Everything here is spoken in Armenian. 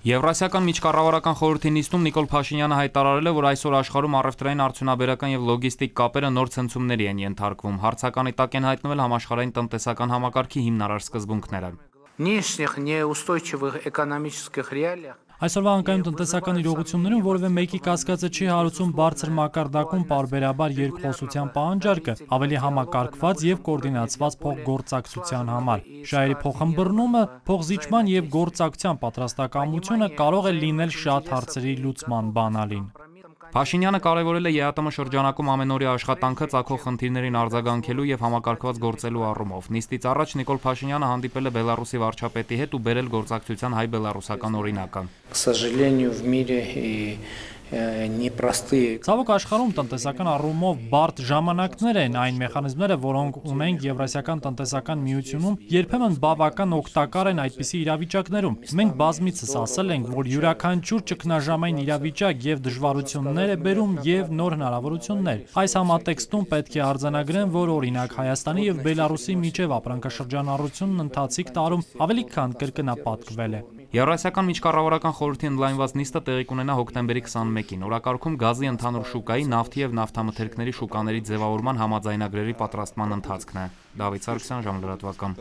Եվրասիական միջկառավարական խորհրդի նիստում Նիկոլ Փաշինյանը հայտարարել է, որ այսօր աշխարհում առևտրային, արդյունաբերական եւ լոգիստիկ կապերը նոր ցնցումների են ենթարկվում։ Հարցականի տակ են հայտնվել համաշխարհային տնտեսական համակարգի հիմնարար սկզբունքները։ Нынешних неустойчивых экономических реалиях Այսօրվա անկայուն տնտեսական իրողություններում որևէ մեկի կասկածը չի հարուցում բարձր մակարդակում պարբերաբար երկխոսության պահանջարկը, ավելի համակարգված եւ կոորդինացված փոխգործակցության համար։ Շահերի փոխըմբռնումը, փոխզիջման եւ գործակցության պատրաստակամությունը կարող է լինել շատ հարցերի լուծման բանալին։ Փաշինյանը կարևորել է ԵԱՏՄ շրջանակում ամենօրյա աշխատանքը ծագող խնդիրներին արձագանքելու եւ համակարգված գործելու առումով։ Նիստից առաջ Նիկոլ Փաշինյանը հանդիպել է Բելարուսի վարչապետի հետ ու բերել գործակցության հայ-բելարուսական օրինակը։ К сожалению, в мире непростые. Ցավոք աշխարհում տնտեսական առումով բարդ ժամանակներ են, այն մեխանիզմները, որոնք ունենք Եվրասիական տնտեսական միությունում, երբեմն բավական օգտակար են այդպիսի իրավիճակներում։ Մենք բազմիցս ասել ենք, որ յուրաքանչյուր ճգնաժամային իրավիճակ եւ դժվարություններ է բերում եւ նոր հնարավորություններ։ Այս համատեքստում պետք է արձանագրեմ, որ օրինակ Հայաստանի եւ Բելարուսի միջև ապրանքաշրջանառությունն ընթացիկ տարում ավելի քան կրկնապատկվել է։ Եվրասիական միջկառավարական խորհրդի ընդլայնված նիստը տեղի կունենա հոկտեմբերի 21-ին։ Օրակարգում գազի ընդհանուր շուկայի, նավթի եւ նավթամթերքների շուկաների ձևավորման համաձայնագրերի պատրաստման ընթացքն է։ Դավիթ Սարգսյան, Ժամլրատվական։